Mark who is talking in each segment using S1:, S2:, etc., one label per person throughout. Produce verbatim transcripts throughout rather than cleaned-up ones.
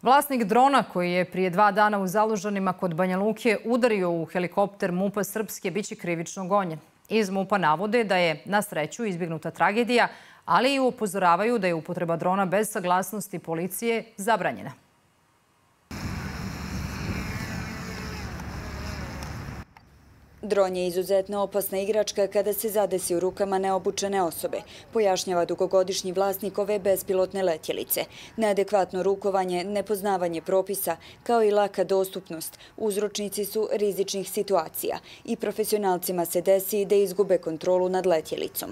S1: Vlasnik drona koji je prije dva dana u Zalužanima kod Banja Luke udario u helikopter MUP-a Srpske biće krivično gonjen. Iz MUP-a navode da je na sreću izbjegnuta tragedija, ali i upozoravaju da je upotreba drona bez saglasnosti policije zabranjena.
S2: Dron je izuzetno opasna igračka kada se zadesi u rukama neobučene osobe, pojašnjava dugogodišnji vlasnik ove bespilotne letjelice. Neadekvatno rukovanje, nepoznavanje propisa, kao i laka dostupnost, uzročnici su rizičnih situacija i profesionalcima se desi da izgube kontrolu nad letjelicom.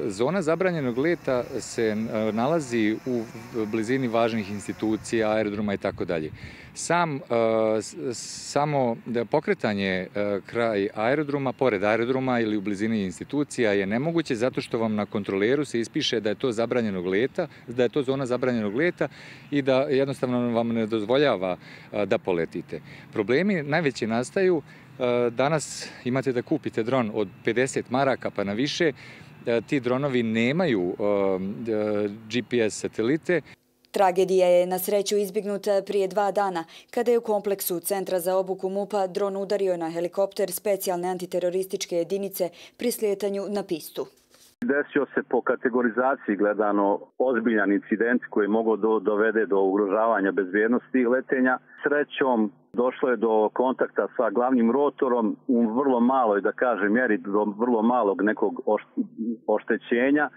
S3: Zona zabranjenog leta se nalazi u blizini važnih institucija, aerodroma i tako dalje. Sam, samo pokretanje kraj aerodroma, pored aerodroma ili u blizini institucija je nemoguće zato što vam na kontroleru se ispiše da je to zabranjenog leta, da je to zona zabranjenog leta i da jednostavno vam ne dozvoljava da poletite. Problemi najveći nastaju. Danas imate da kupite dron od pedeset maraka pa na više. Ti dronovi nemaju G P S satelite.
S2: Tragedija je na sreću izbjegnuta prije dva dana, kada je u kompleksu Centra za obuku MUP-a dron udario na helikopter specijalne antiterorističke jedinice pri slijetanju na pistu.
S4: Desio se po kategorizaciji gledano ozbiljan incident koji mogu dovede do ugrožavanja bezbjednosti letenja. Srećom došlo je do kontakta sa glavnim rotorom u vrlo maloj, da kažem, mjeri do vrlo malog nekog oštećenja.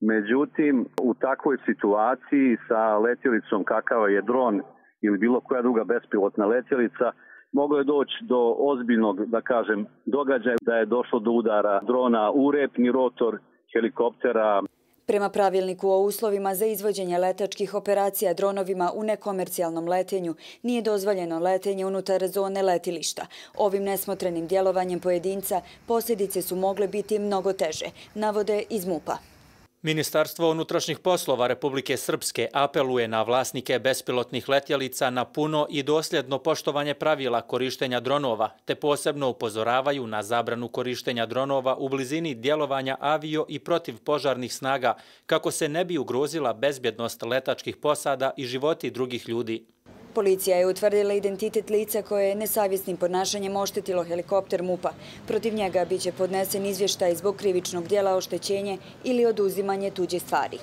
S4: Međutim, u takvoj situaciji sa letjelicom kakav je dron ili bilo koja druga bespilotna letjelica, moglo je doći do ozbiljnog, da kažem, događaja da je došlo do udara drona u repni rotor helikoptera.
S2: Prema pravilniku o uslovima za izvođenje letačkih operacija dronovima u nekomercijalnom letenju nije dozvoljeno letenje unutar zone letilišta. Ovim nesmotrenim djelovanjem pojedinca posljedice su mogle biti mnogo teže, navode iz MUP-a.
S5: Ministarstvo unutrašnjih poslova Republike Srpske apeluje na vlasnike bespilotnih letjelica na puno i dosljedno poštovanje pravila korištenja dronova, te posebno upozoravaju na zabranu korištenja dronova u blizini djelovanja avio i protivpožarnih snaga, kako se ne bi ugrozila bezbjednost letačkih posada i životi drugih ljudi.
S2: Policija je utvrdila identitet lica koje je nesavjesnim ponašanjem oštetilo helikopter MUP-a. Protiv njega biće podnesen izvještaj zbog krivičnog djela oštećenje ili oduzimanje tuđe stvari.